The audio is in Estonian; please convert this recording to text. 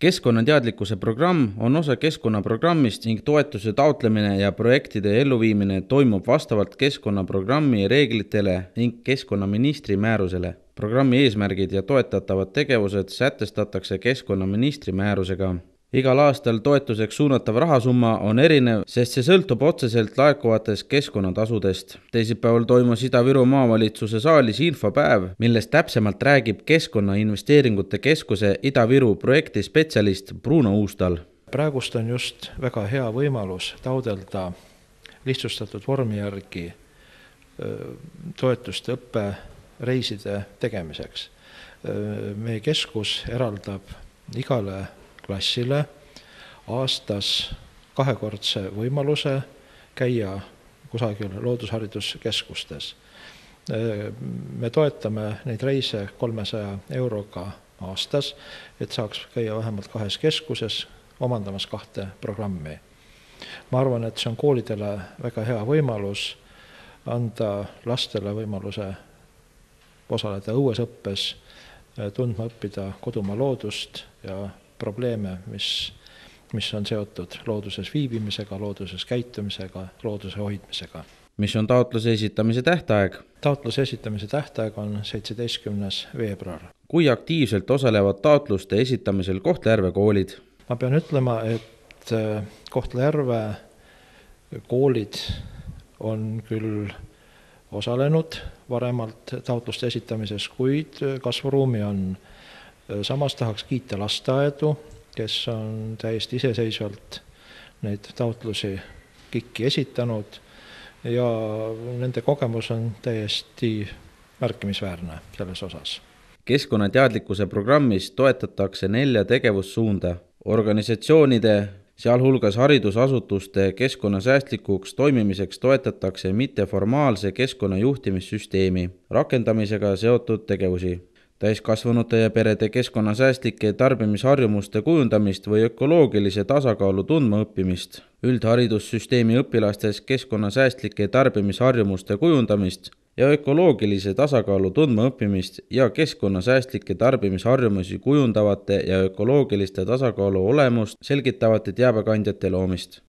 Keskkonnateadlikkuse programm on osa keskkonnaprogrammist ning toetuse taotlemine ja projektide elluviimine toimub vastavalt keskkonnaprogrammi reeglitele ning keskkonnaministri määrusele. Programmi eesmärgid ja toetatavad tegevused sätestatakse keskkonnaministri määrusega. Igal aastal toetuseks suunatav rahasumma on erinev, sest see sõltub otseselt laekuvatest keskkonnatasudest. Teisipäeval toimus Ida-Viru maavalitsuse saalis infopäev, millest täpsemalt räägib Keskkonnainvesteeringute Keskuse Ida-Viru projekti spetsialist Bruno Uustal. Praegust on just väga hea võimalus taodelda lihtsustatud vormi järgi toetust õppereiside tegemiseks. Meie keskus eraldab igale klassile aastas 2-kordse võimaluse käia kusagil loodushariduskeskustes. Me toetame neid reise 300 euroga aastas, et saaks käia vähemalt 2 keskuses omandamas 2 programmi. Ma arvan, et see on koolidele väga hea võimalus anda lastele võimaluse osaleda õuesõppes, tundma õppida kodumaa loodust ja probleeme, mis on seotud looduses viibimisega, looduses käitumisega, looduse hoidmisega. Mis on taotluse esitamise tähtaeg? Taotluse esitamise tähtaeg on 17. veebruar. Kui aktiivselt osalevad taotluste esitamisel Kohtla-Järve koolid? Ma pean ütlema, et Kohtla-Järve koolid on küll osalenud varemalt taotluste esitamises, kuid kasvuruumi on. Samas tahaks kiita lasteaedu, kes on täiesti iseseisvalt neid taotlusi KIK-i esitanud ja nende kogemus on täiesti märkimisväärne selles osas. Keskkonnateadlikkuse programmis toetatakse 4 tegevussuunda. Organisatsioonide, sealhulgas haridusasutuste keskkonnasäästlikuks toimimiseks toetatakse mitteformaalse keskkonnajuhtimissüsteemi rakendamisega seotud tegevusi. Täiskasvanute ja perede keskkonnasäästlike tarbimisharjumuste kujundamist või ökoloogilise tasakaalu tundma õppimist, üldharidussüsteemi õpilastes keskkonnasäästlike tarbimisharjumuste kujundamist ja ökoloogilise tasakaalu tundma õppimist ja keskkonnasäästlike tarbimisharjumusi kujundavate ja ökoloogiliste tasakaalu olemust selgitavate teabekandjate loomist.